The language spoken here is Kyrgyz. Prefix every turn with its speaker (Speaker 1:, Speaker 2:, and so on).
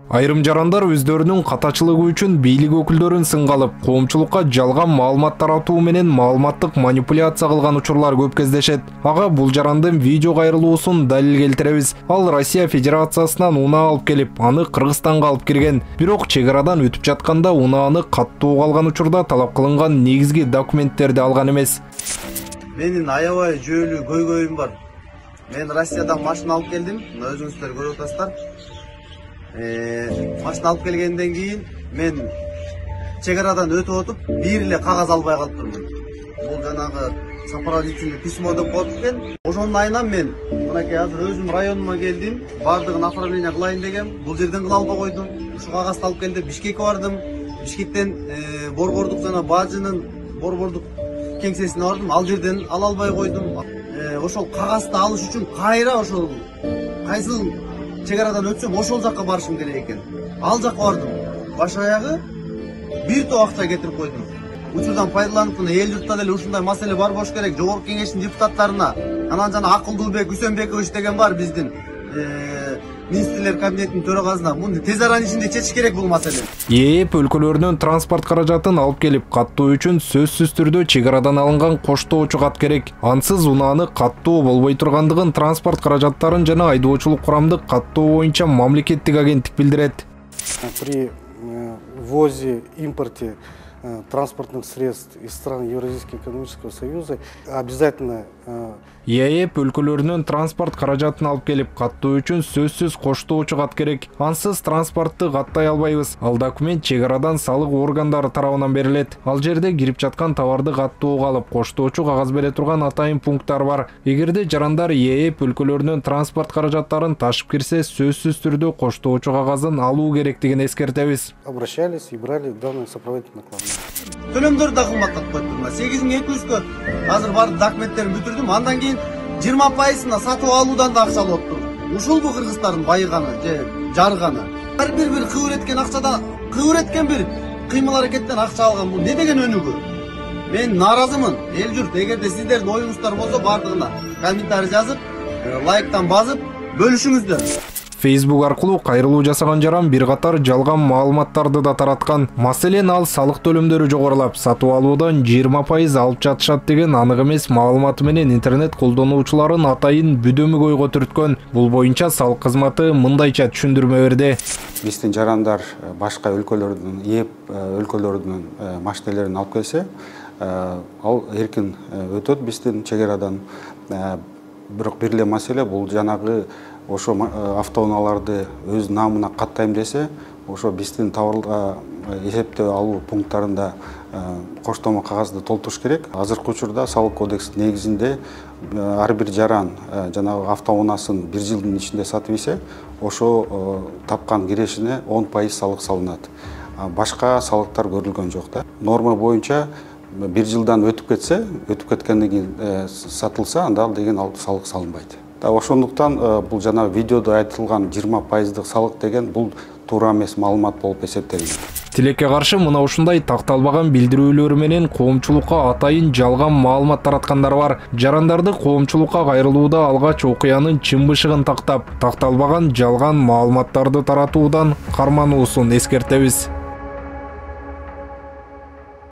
Speaker 1: Айрым жарандар өздөрүнүн катачылыгы үчүн бийлик өкүлдөрүн сынга алып, коомчулукка жалган маалымат таратуу менен маалыматтык манипуляция кылган учурлар көп кездешет. Ага бул жарандын видео кайрылуусун далил келтиребиз. Ал Россия Федерациясынан унаа алып келип, аны Кыргызстанга алып кирген. Бирок чек арадан өтүп жатканда унааны каттуу алган учурда талап кылынган негизги документтерди алган эмес.
Speaker 2: Менин аябай жөөлүү көйгөйүм бар. Мен Россиядан машина алып келдим. Өзүңүздөр көрүп атасыздар. Машина алып келгенден кийин мен чек арадан өтүп отуп, бир эле кагаз албай калыптырмын. Бул жанагы сопроводительный письмо деп коет экен. Ошонун айынан мен мынакей азыр өзүм районума келдим, бардыгын оформление кылайын дегем. Бул жерден кыла албай койдум. Ушу кагазды алып келдим, Бишкекке бардым. Бишкектен борбордук жана бажынын борбордук кеңсесине бардым. Ал жерден ала албай койдум. Ошол кагазды алыш үчүн кайра ошол кайсыл чек арадан өтсөм ошол жакка барышым керек экен. Ал жакка бардым. Баш аягы бир топ акча кетирип койдум. Учурдан пайдаланып, эл журтта деле ушундай маселе бар болуш керек. Жогорку кеңештин депутаттарына, анан жана Акылдуубек Үсөнбекович деген бар биздин министрлер кабинетинин төрагасына муну тез аранын ичинде чечиш керек бул маселени.
Speaker 1: ЕЭП өлкөлөрүнөн транспорт каражатын алып келип каттоо үчүн сөзсүз түрдө чек арадан алынган коштоочу кат керек. Ансыз унааны каттоо болбой тургандыгын транспорт каражаттарын жана айдоочулук курамдык каттоо боюнча мамлекеттик агенттик билдирет.
Speaker 3: При ввозе, импорте транспортных средств из стран Евразийского экономического союза обязательно
Speaker 1: ЕЭП өлкөлөрүнөн транспорт каражатын алып келип каттоо үчүн сөзсүз коштоочу кат керек. Ансыз транспортты каттай албайбыз. Ал документ чек арадан салык органдары тарабынан берилет. Ал жерде кирип жаткан товарды каттоого алып, коштоочу кагаз бере турган атайын пункттар бар. Эгерде жарандар ЕЭП өлкөлөрүнөн транспорт каражаттарын ташып кирсе, сөзсүз түрдө коштоочу кагазын алуу керектигин эскертебиз.
Speaker 3: Обращались и брали данные сопроводительные накладные.
Speaker 2: Төлөмдөрдү да кымбаттатып коюптурмун. 8200 азыр бар документтерин бүтүрдүм. Андан кийин 20%-ына сатып алуудан да акча алып тур. Ушулбу кыргыздардын байыганы же жарганы? Ар бир кыбыр эткен акчада, кыбыр эткен бир кыймыл аракеттен акча алган. Бул не деген өнүгүү? Мен наразымын. Эл журт, эгерде сиздердин оюңуздар болсо бардыгына комментарий жазып, лайктан басып бөлүшүңүздөр.
Speaker 1: Facebook аркылуу кайрылуу жасаган жаран бир катар жалган маалыматтарды да тараткан. Маселен, ал салык төлөмдөрү жогорулап, сатып алуудан 20% алып жатышат деген анык эмес маалыматы менен интернет колдонуучуларын атайын бүдөмүк ойго түрткөн. Бул боюнча салык кызматы мындайча түшүндүрмө берди.
Speaker 4: Биздин жарандар башка өлкөлөрдүн, ЕЭП өлкөлөрүнүн машинелерин алып келсе, ал эркин өтөт биздин чек арадан. Бирок бир эле маселе, бул жанагы ошо автоунааларды өз намына каттайм десе, ошо биздин товарга эсептөө алуу пункттарында коштомо кагазды толтуруш керек. Азыркы учурда салык кодекс негизинде ар бир жаран жанагы автоунаасын 1 жылдын ичинде сатып ийсе, ошо тапкан кирешине 10% салык салынат. Башка салыктар көрүлгөн жок да. Норма боюнча 1 жылдан өтүп кетсе, өтүп кеткенден кийин сатылса, анда ал деген салык салынбайт. Ошондуктан бул жана видеодо айтылган 20%дык салык деген бул туура эмес маалымат болуп эсептелет.
Speaker 1: Тилекке каршы мына ушундай такталбаган билдирүүлөр менен коомчулукка атайын жалган маалымат тараткандар бар. Жарандарды коомчулукка кайрылууда алгач окуянын чын бышыгын тактап, такталбаган жалган маалыматтарды таратуудан кармануусун эскертебиз.